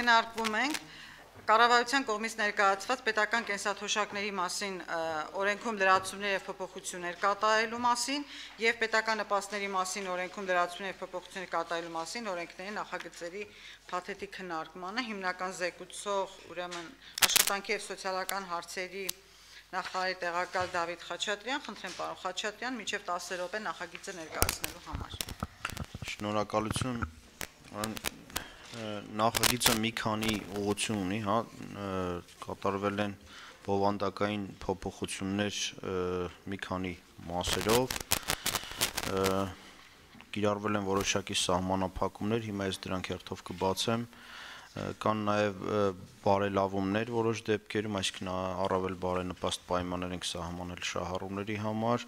քննարկվում ենք կառավարության կողմից ներկայացված պետական կենսաթոշակների մասին օրենքում լրացումներ եւ փոփոխություններ կատարելու մասին եւ պետական նպաստների մասին օրենքում լրացումներ եւ փոփոխություններ կատարելու մասին օրենքների նախագծերի փաթեթի քննարկմանը հիմնական զեկուցող ուրեմն աշխատանքի եւ սոցիալական հարցերի նախարարի տեղակալ Դավիթ Խաչատրյան, խնդրեմ պարոն Խաչատրյան, մինչև 10 րոպե նախագիծը ներկայացնելու համար։ Շնորհակալություն, նախագիծը մի քանի ուղղություն ունի, հա, կատարվել են բովանդակային փոփոխություններ մի քանի մասերով, կիրառվել են որոշակի սահմանափակումներ, հիմա ես դրանք հերթով կբացեմ, կան նաև բարելավումներ որոշ դեպքերում, այսինքն առավել բարենպաստ պայմաններ ենք սահմանել շահառուների համար,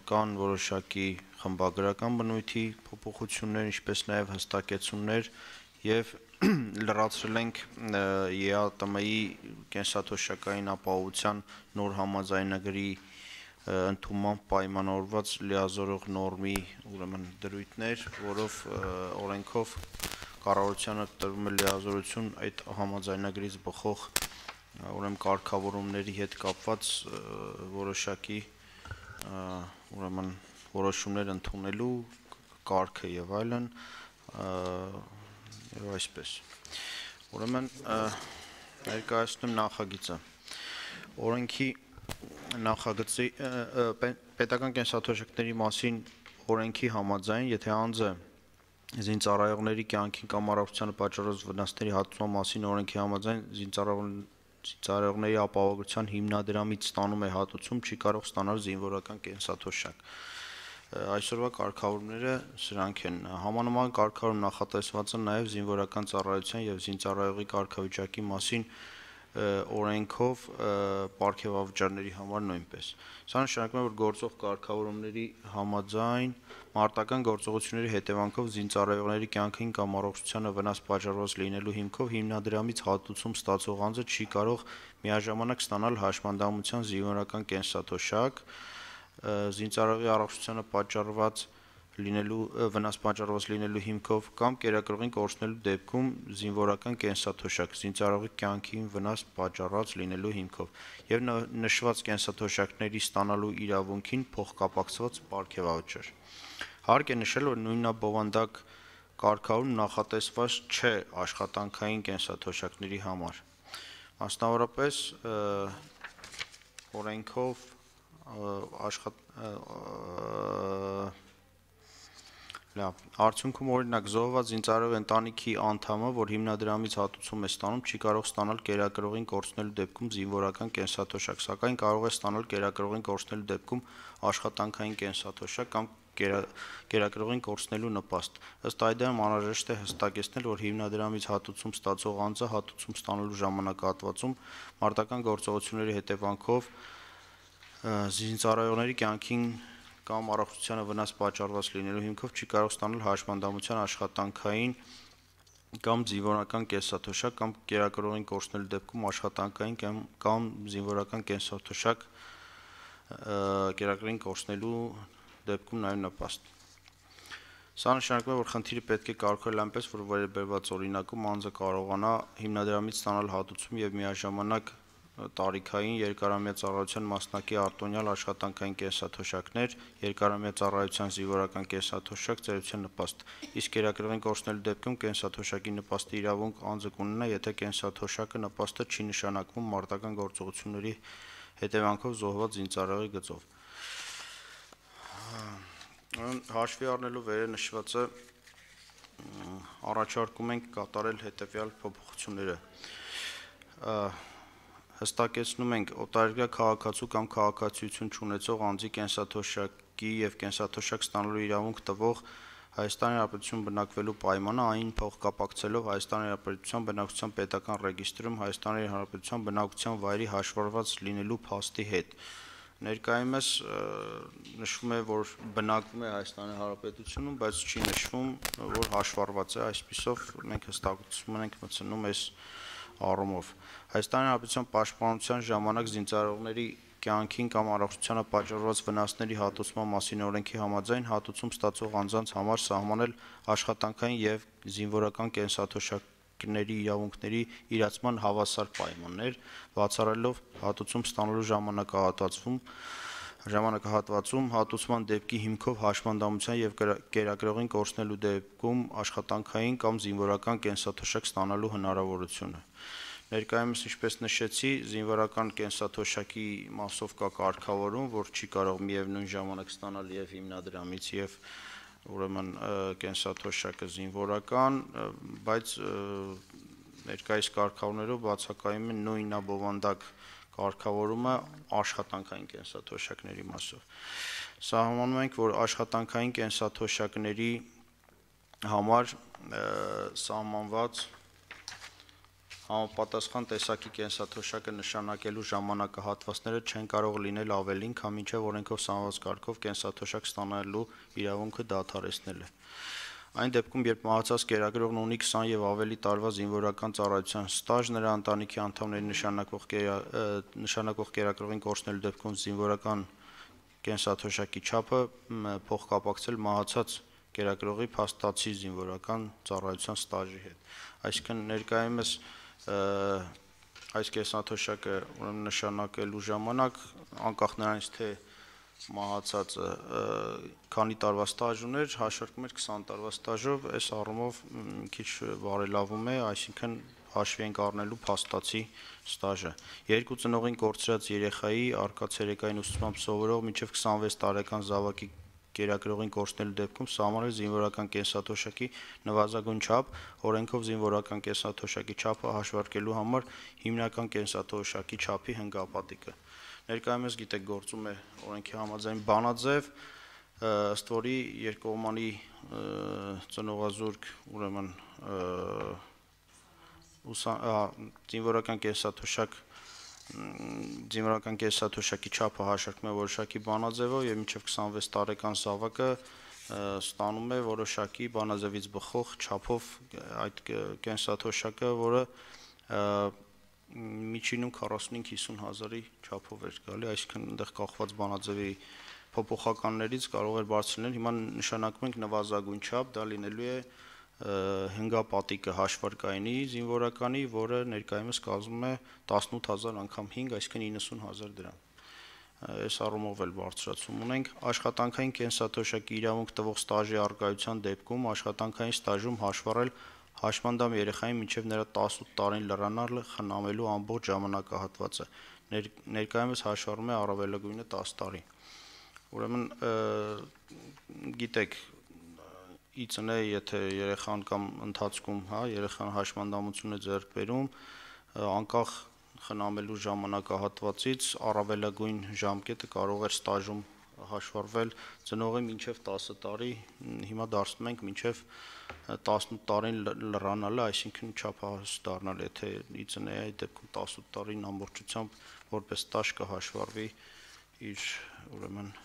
կան որոշակի խմբագրական բնույթի փոփոխություններ, ինչպես նաև հստակեցումներ եւ լրացրել ենք ԵԱՏՄ-ի կենսաթոշակային ապահովության նոր համաձայնագրի ընդունման պայմանավորված լիազորող նորմի ուրեմն դրույթներ, որով օրենքով կառավարությանը տրվում է լիազորություն այդ համաձայնագրից բխող ուրեմն կարգավորումների հետ կապված որոշակի ուրեմն որոշումներ ընդունելու կարգը եւ այլն եւ այսպես ուրեմն ներկայացնում նախագիծը օրենքի նախագծի պետական կենսաթոշակների մասին օրենքի համաձայն եթե անձը զինծառայողների կյանքին կամ առողջությանը պատճառած վնասների հատուցման մասին օրենքի համաձայն զինծառայողների ապահովության հիմնադրամից ստանում է հատուցում, չի կարող ստանալ զինվորական կենսաթոշակ։ Այսօրվա կարգավորումները սրանք են։ Համանման կարգավորում նախատեսված է նաև զինվորական ծառայության եւ զինծառայողի կարգավիճակի մասին օրենքով պարգևավճարների համար նույնպես։ Սա նշանակում է, որ գործող կարգավորումների համաձայն մարտական գործողությունների հետևանքով զինծառայողների կյանքին կամ առողջությանը վնաս պատճառված լինելու հիմքով հիմնադրամից հատուցում ստացող անձը չի կարող միաժամանակ ստանալ հաշմանդամության զինվորական կենսաթոշակ, զինծառայողի առողջությանը պատճառված վնաս պատճառված լինելու հիմքով կամ կերակրողին կորցնելու դեպքում զինվորական կենսաթոշակ, զինծառայողի կյանքին վնաս պատճառած լինելու հիմքով եւ նշված կենսաթոշակների ստանալու իրավունքին փոխկապակցված պարգևավճար։ Հարկ է նշել, որ նույնաբովանդակ կարգավորում նախատեսված չէ աշխատանքային կենսաթոշակների համար։ Մասնավորապես օրենքով արդյունքում օրինակ զոհված զինծառայողի ընտանիքի անդամը, որ հիմնադրամից հատուցում է ստանում, չի կարող ստանալ կերակրողին կորցնելու դեպքում զինվորական կենսաթոշակ, սակայն կարող է ստանալ կերակրողին կորցնելու դեպքում աշխատանքային կենսաթոշակ կամ կերակրողին կորցնելու նպաստ։ Ըստ այդմ անհրաժեշտ է հստակեցնել, որ հիմնադրամից հատուցում ստացող անձը հատուցում ստանալու ժամանակահատվածում մարտական գործողությունների հետևանքով զինծառայողների կյանքին կամ առողջությանը վնաս պատճառված լինելու հիմքով չի կարող ստանալ հաշմանդամության աշխատանքային կամ զինվորական կենսաթոշակ կամ կերակրողին կորցնելու դեպքում աշխատանքային կամ զինվորական կենսաթոշակ կերակրին կորցնելու դեպքում նաև նպաստ։ Սա նշանակում է, որ խնդիրը պետք է կարգավորել այնպես, որ վերաբերված օրինակում անձը կարողանա հիմնադրամից ստանալ հատուցում եւ միաժամանակ տարիքային երկարամյա ծառայության մասնակի արտոնյալ աշխատանքային կենսաթոշակներ, երկարամյա ծառայության զինվորական կենսաթոշակ, ծերության նպաստ, իսկ կերակրողին կորցնելու դեպքում կենսաթոշակի նպաստի իրավունք անձը կունենա, եթե կենսաթոշակը նպաստը չի նշանակվում մարտական գործողությունների հետևանքով զոհված զինծառայողի գծով։ Հաշվի առնելու վերը նշվածը առաջարկում ենք կատարել հետևյալ փոփոխությունները։ Հստակեցնում ենք օտարերկրյա քաղաքացու կամ քաղաքացիություն չունեցող անձի կենսաթոշակի եւ կենսաթոշակ ստանալու իրավունք տվող Հայաստանի Հանրապետություն բնակվելու պայմանը այն փոխկապակցելով Հայաստանի Հանրապետության բնակչության պետական ռեգիստրում Հայաստանի Հանրապետության բնակության վայրի հաշվառված լինելու փաստի հետ։ Ներկայումս նշվում է, որ բնակվում է Հայաստանի Հանրապետությունում, բայց չի նշվում, որ հաշվառված է, այսպիսով մենք հստակություն ենք մտցնում այս առումով։ Հայաստանի Հանրապետության պաշտպանության ժամանակ զինծառայողների կյանքին կամ առողջությանը պատճառված վնասների հատուցման մասին օրենքի համաձայն հատուցում ստացող անձանց համար սահմանել աշխատանքային եւ զինվորական կենսաթոշակ աշխատանքների իրավունքների իրացման հավասար պայմաններ, բացառելով հատուցում ստանալու ժամանակահատվածում հատուցման դեպքի հիմքով հաշմանդամության և կերակրողին կորցնելու դեպքում աշխատանքային կամ զինվորական կենսաթոշակ ստանալու հնարավորությունը։ Ներկայումս, ինչպես նշեցի, զինվորական կենսաթոշակի մասով կա կարգավորում, որ չի կարող միևնույն ժամանակ ստանալ և հիմնադրամից և ուրեմն կենսաթոշակը զինվորական, բայց ներկայիս կարգավորումներով բացակայում է նույն բովանդակ կարգավորումը աշխատանքային կենսաթոշակների մասով։ Սահմանում ենք, որ աշխատանքային կենսաթոշակների համար սահմանված համապատասխան տեսակի կենսաթոշակը նշանակելու ժամանակահատվածները չեն կարող լինել ավելին, քան մինչև օրենքով սահմանված կարգով կենսաթոշակ ստանալու իրավունքը դադարեցնել է։ Այն դեպքում, երբ մահացած կերակրողն ունի 20 և ավելի տարվա զինվորական ծառայության ստաժ, նրա ընտանիքի անդամների նշանակող կերակրողին կորցնելու դեպքում զինվորական կենսաթոշակի չափը փոխկապակցել մահացած կերակրողի փաստացի զինվորական ծառայության ստաժի հետ։ Այսինքն ներկայումս այս կենսաթոշակը նշանակելու ժամանակ անկախ նրանից, թե մահացածը քանի տարվա ստաժ ուներ, հաշվարկում էր 20 տարվա ստաժով, այս առումով քիչ բարելավում է, այսինքն հաշվի ենք առնելու փաստացի ստաժը։ Երկու ծնողին կորցրած երեխայի առկա ցերեկային ուսուցմամբ սովորող մինչև 26 տարեկան զավակի կերակրողին կորցնելու դեպքում սահմանել զինվորական կենսաթոշակի նվազագույն չափ, օրենքով զինվորական կենսաթոշակի չափը հաշվարկելու համար հիմնական կենսաթոշակի չափի հնգապատիկը։ Ներկայումս գիտեք գործում է օրենքի համաձայն բանաձև, ըստ որի երկկողմանի ծնողազուրկ ուրեմն զինվորական կենսաթոշակի չափը հաշվարկում է որոշակի բանաձևով և մինչև 26 տարեկան զավակը ստանում է որոշակի բանաձևից բխող չափով այդ կենսաթոշակը, որը միջինում 45-50 հազարի չափով էր գալի, այսինքն այնտեղ կախված բանաձևի փոփոխականներից կարող էր բարձր լինել, հիմա նշանակում ենք նվազագույն չափ, դա լինելու է հնգապատիկը հաշվարկայինի զինվորականի, որը ներկայումս կազմում է 18000 անգամ 5, այսինքն 90000 դրամ։ Այս առումով էլ բարձրացում ունենք։ Աշխատանքային կենսաթոշակի իրավունք տվող ստաժի առկայության դեպքում աշխատանքային ստաժում հաշվառել հաշմանդամ երեխային մինչև նրա 18 տարին լրանալը խնամելու ամբողջ ժամանակահատվածը, ներկայումս հաշվառվում է առավելագույնը 10 տարի։ Ուրեմն գիտեք, ի ծնե, եթե երեխան կամ ընթացքում երեխան հաշմանդամություն է ձեռք բերում, անկախ խնամելու ժամանակահատվածից առավելագույն ժամկետը կարող էր ստաժում հաշվառվել ծնողի մինչև 10 տարի, հիմա դարձնում ենք մինչև 18 տարին լրանալը, այսինքն չափահաս դառնալ, եթե ի ծնե այդ դեպքում 18 տարին ամբողջությամբ որպես ստաժ կհաշվառվի իր ուրեմն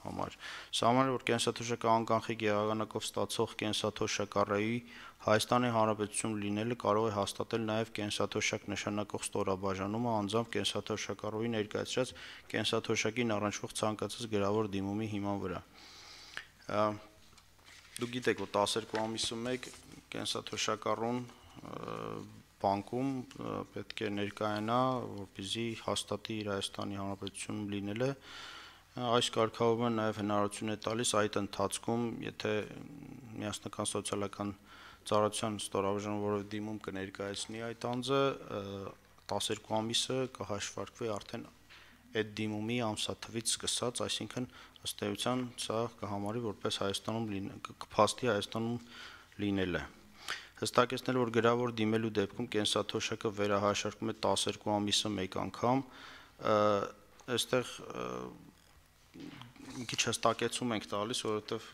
համար։ Սահմանել, որ կենսաթոշակը անկանխիկ եղանակով ստացող կենսաթոշակառուի Հայաստանի Հանրապետություն լինելը կարող է հաստատել նաև կենսաթոշակ նշանակող ստորաբաժանումը անձամբ կենսաթոշակառուի ներկայացրած կենսաթոշակին առնչվող ցանկացած գրավոր դիմումի հիման վրա։ Դուք գիտեք, որ 12 ամիսը մեկ կենսաթոշակառուն բանկում պետք է ներկայանա, որպեսզի հաստատի իր Հայաստանի Հանրապետությունում լինելը։ Այս կարգավորումը նաև հնարավորություն է տալիս այդ ընթացքում, եթե միասնական սոցիալական ծառայության ստորաբաժանում որևէ դիմում կներկայացնի այդ անձը, 12 ամիսը կհաշվարկվի արդեն այդ դիմումի ամսաթվից սկսած, այսինքն ըստ էության սա կհամարի որպես կփաստի Հայաստանում լինելը։ Հստակեցնել, որ գրավոր դիմելու դեպքում կենսաթոշակը վերահաշարկվում է 12 ամիսը մեկ անգամ, այստեղ մի քիչ հստակեցում ենք տալիս, որովհետև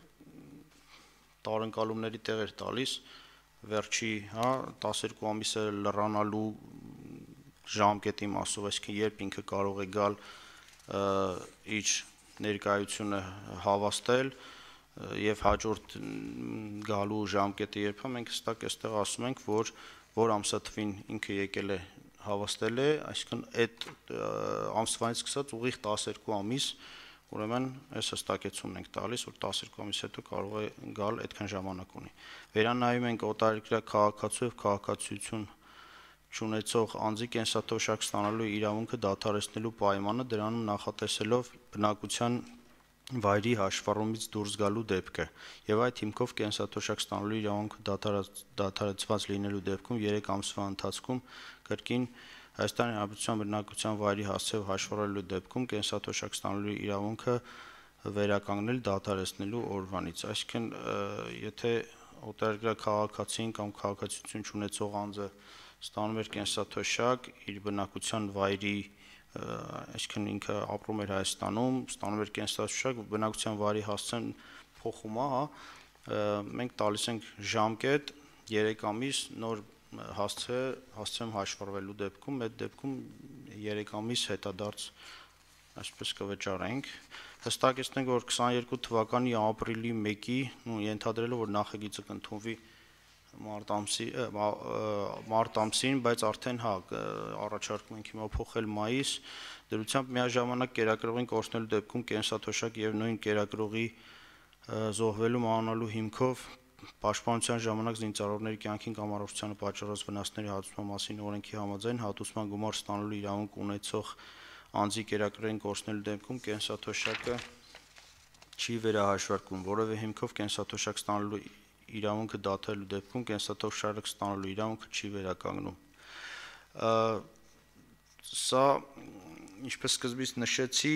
տարընկալումների տեղ էր տալիս, վերջի 12 ամիսը լրանալու ժամկետի մասով, այսինքն երբ ինքը կարող է գալ իր ներկայությունը հավաստել եւ հաջորդ գալու ժամկետը երբ է, մենք հստակ այստեղ ասում ենք, որ ամսաթվին ինքը եկել է հավաստել է, այսինքն այդ ամսվանից սկսած ուղիղ 12 ամիս ուրեմն այս հստակեցումն ենք տալիս, որ 12 ամիս հետո կարող է գալ այդքան ժամանակ ունի։ Վերանայում ենք օտարերկրյա քաղաքացու եւ քաղաքացիություն չունեցող անձի կենսաթոշակ ստանալու իրավունքը դադարեցնելու պայմանը, դրանում նախատեսելով բնակության վայրի հաշվառումից դուրս գալու դեպքը եւ այդ հիմքով կենսաթոշակ ստանալու իրավունքը դադարեցված լինելու դեպքում 3 ամսվա ընթացքում կրկին Հայաստանի Հանրապետության բնակության վայրի հասցեով հաշվառելու դեպքում կենսաթոշակ ստանալու իրավունքը վերականգնել դադարեցնելու օրվանից, այսինքն եթե օտարերկրյա քաղաքացին կամ քաղաքացիություն չունեցող անձը ստանում էր կենսաթոշակ իր բնակության վայրի, այսինքն ինքը ապրում էր Հայաստանում, ստանում էր կենսաթոշակ, բնակության վայրի հասցեն փոխում է, մենք տալիս ենք ժամկետ 3 ամիս նոր հասցեմ հաշվառվելու դեպքում, այդ դեպքում 3 ամիս հետադարձ այսպես կվճարենք, հստակեցնենք, որ 22 թվականի ապրիլի 1-ի, ենթադրելով, որ նախագիծը կընդունվի մարտ ամսին, բայց արդեն առաջարկում ենք հիմա փոխել մայիս, դրությամբ միաժամանակ կերակրողին կորցնելու դեպքում կենսաթոշակ եւ նույն կերակրողի զոհվելու մանանալու հիմքով պաշտպանության ժամանակ զինծառայողների կյանքին կամ առողջությանը պատճառած վնասների հատուցման մասին օրենքի համաձայն հատուցման գումար ստանալու իրավունք ունեցող անձի կերակրողին կորցնելու դեպքում կենսաթոշակը չի վերահաշվարկվում, որևէ հիմքով կենսաթոշակ ստանալու իրավունքը դադարելու դեպքում կենսաթոշակ ստանալու իրավունքը չի վերականգնում։ Սա, ինչպես սկզբից նշեցի,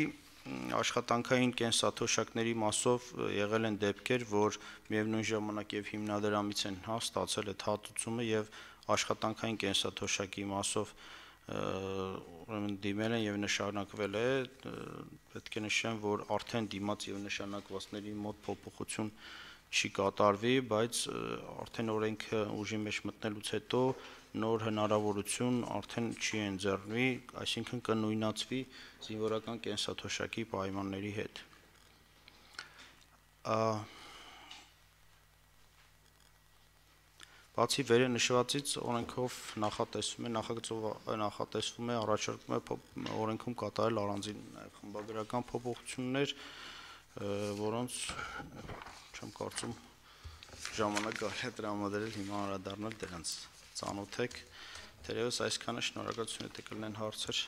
աշխատանքային կենսաթոշակների մասով եղել են դեպքեր, որ միևնույն ժամանակ եւ հիմնադրամից են ստացել այդ հատուցումը եւ աշխատանքային կենսաթոշակի մասով ուրեմն դիմել են եւ նշանակվել է, պետք է նշեմ, որ արդեն դիմաց եւ նշանակվածների մոտ փոփոխություն չի կատարվի, բայց արդեն օրենքը ուժի մեջ մտնելուց հետո նոր հնարավորություն արդեն չի ընձեռնվի, այսինքն կնույնացվի զինվորական կենսաթոշակի պայմանների հետ։ Բացի վերը նշվածից օրենքով նախատեսվում է առաջարկում է օրենքում կատարել առանձին խմբագրական փոփոխություններ, որոնց չեմ կարծում ժամանակ կարելի է տրամադրել հիմա անդրադառնալ դրանց, ծանոթ եք, թերևս այսքանը, շնորհակալություն, եթե կլինեն հարցեր։